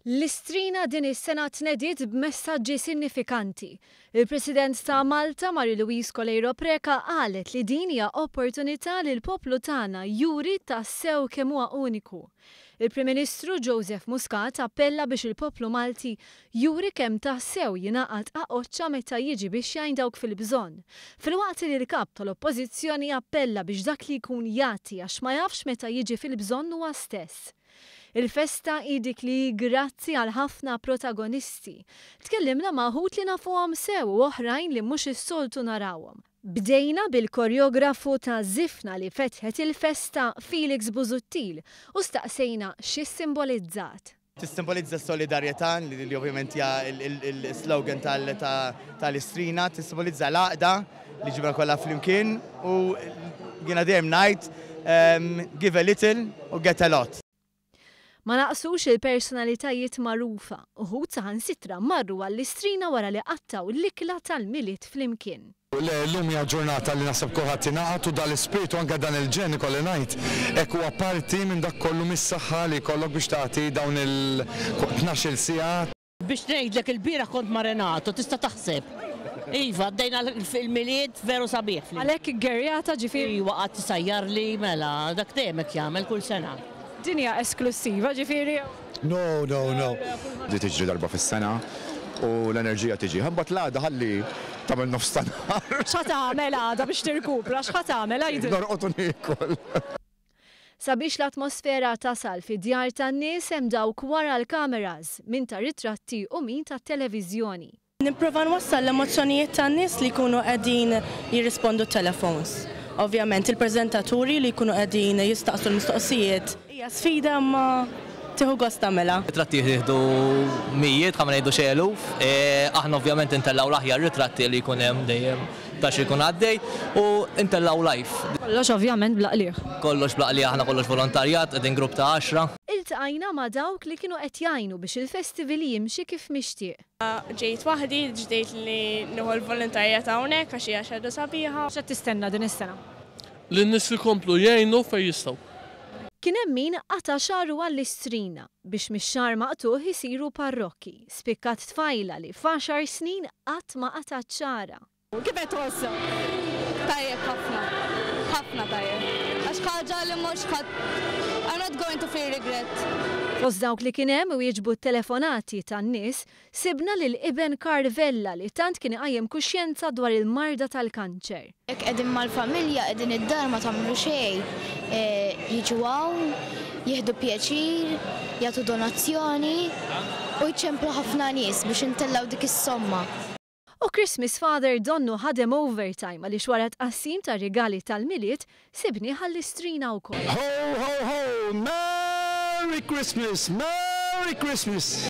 L-Istrina din is-sena tnediet b'messaġġi sinifikanti. Il-President ta' Malta, Marie-Louise Coleiro Preca, qalet li din hija opportunità li l-poplu tagħna juri tassew kemm huwa uniku. Il-Prim Ministru Joseph Muscat appella biex il-poplu Malti juri kemm tassew jingħaqad qaqoċċa meta jiġi biex jgħin dawk fil-bżonn. Filwaqt li l-kap tal-Oppożizzjoni appella biex dak li jkun jagħti għax ma jafx meta jiġi fil-bżonn huwa stess. Il-festa hi dik li grazzi għal ħafna protagonisti. Tkellimna ma' wħud li nafuhom sew u oħrajn li mhux is-soltu narawhom. Bdejna bil-koreografu ta' Żifna li fetħet il-festa, Felix Busuttil, u staqsejna x'ssimbolizzat. Tissimbolizza s-solidarjetà li ovvjament hija il-slogan tal-Istrina, tissimbolizza l-għaqda li ġibna kollha flimkien u jiena dejjem ngħid "Give a little u get a lot." Ma naqsux il-personalitajiet magħrufa, uħud saħansitra marru għall-Istrina wara li qattaw l-ikla tal-Milied flimkien. Le, llum hija ġurnata li naħseb kulħadd ingħaqad u dal-ispirtu, anke dan il-ġen, ikolli ngħid, hekk huwa parti minn dak kollu, mis-saħħa li jkollok biex tagħti dawn il-12-il siegħa. Biex ngħidlek, il-bieraħ kont ma' Renato, tista' taħseb. Iva, għaddejna il-Milied veru sabiħ. Għalhekk gerjata ġifieri. Iva, qatt tisajjarli, mela, dak dejjem hekk jagħmel kull sena. Din hija esklussiva ġifieri? No, no, no. Di tiġri darba fis-sena u l-enerġija tiġi. Imbagħad l-għada ħalli tagħmel nofs ta' nhar. X'ħa tagħmel għada biex tirkupra? X'ħa tagħmel, għidli? Norqod u niekol. Sabiex l-atmosfera tasal fid-djar tan-nies hemm dawk wara l-kameras, min ta' ritratti u min ta' televiżjoni. Nipprova nwassal l-emozzjonijiet tan-nies li jkunu qegħdin jirrispondu t-telefons. Ovvjament il-preżentaturi li jkunu qegħdin jistaqsu l-mistoqsijiet. Hija sfida imma tieħu gost tagħmilha. Ritratti jieħdu mijiet, ħa ma ngħidu xi eluf. Aħna ovvjament intellgħu l-aħjar ritratti li jkun hemm dejjem ta' xi jkun għaddej u intellgħu live. Kollox ovvjament bla qligħ. Kollox bla qligħ, aħna kollox volontarjat, qegħdin grupp ta' 10. Iltqajna ma' dawk li kienu qed jgħinu biex il-festival jimxi kif mixtieq. Ġejt waħdi, ġdejt li nieħu l-volontarjat hawnhekk għax hija xi ħaġa sabiħa. X'qed tistenna din is-sena? Li n-nies ikomplu jgħinu fejn jistgħu. Kien hemm min qata' xagħru għall-Istrina biex mix-xagħar maqtugħ isiru parrokki. Spikkat tfajla li f'għaxar snin qatt ma qatgħet xagħarha. Kif qed tħossok? Tajjeb ħafna. Ħafna tajjeb. Għax ħaġa li mhux ħadd, I'm not going to feel regret. Fost dawk li kien hemm wieġbu t-telefonati tan-nies, sibna lil iben Karl Vella li tant kien iqajjem kuxjenza dwar il-marda tal-kanċer. Jekk qegħdin mal-familja, qegħdin id-dar ma tagħmlu xejn, jiġu hawn, jieħdu pjaċir, jagħtu donazzjoni u jċemplu ħafna nies biex intellgħu dik is-somma. U Christmas Father donnu ħadem overtime għaliex wara tqassim ta' rigali tal-Milied sibnieh għall-Istrina wkoll. Ho, ho, ho! Merry Christmas! Merry Christmas!